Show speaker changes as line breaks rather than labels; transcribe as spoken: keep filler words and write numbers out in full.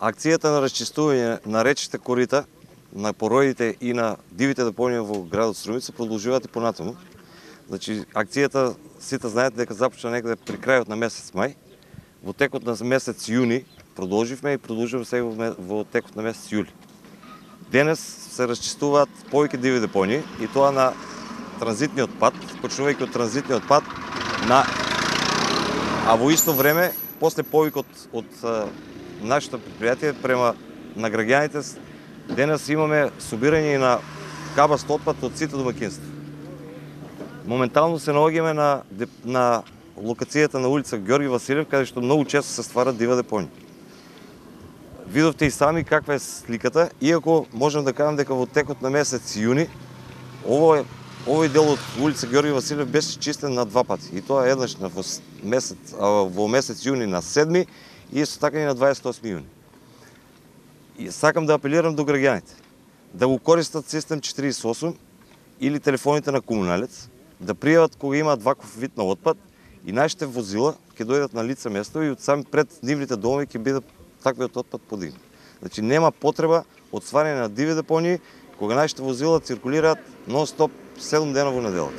Акцијата на расчистување на речните корита, на пороидите и на дивите депонија во градот Струмица продолжуваат и понатаму. Значи, акцијата, сите знаете дека започна некаде при крајот на месец мај. Во текот на месец јуни продолживме и продолжуваме сега во текот на месец јули. Денес се расчистуваат повеќе диви депонии и тоа на транзитниот пат, почнувајќи од транзитниот пат на а во исто време после повикот од нашето предпријатие према на граѓаните, денес имаме собирање на кабаст отпад од сите домаќинства. Моментално се наоѓаме на, на локацијата на улица Ѓорги Василев, каде што многу често се ствара дива депонија. Видовте и сами каква е сликата, иако можам да кажам дека во текот на месец јуни овој, овој дел од улица Ѓорги Василев беше чистен на два пати. И тоа еднаш на во месец, во месец јуни на седми и исто така и на дваесет и осми јуни. И сакам да апелирам до граѓаните да го користат систем четириесет и осум или телефоните на комуналец, да пријават кога имаат ваков вид на отпад и нашите возила ќе дојдат на лице место и од сами пред нивните домови ќе биде таквиот отпад подигнат. Значи нема потреба од стварање на диви депонии кога нашите возила циркулираат нон-стоп седум дена во неделата.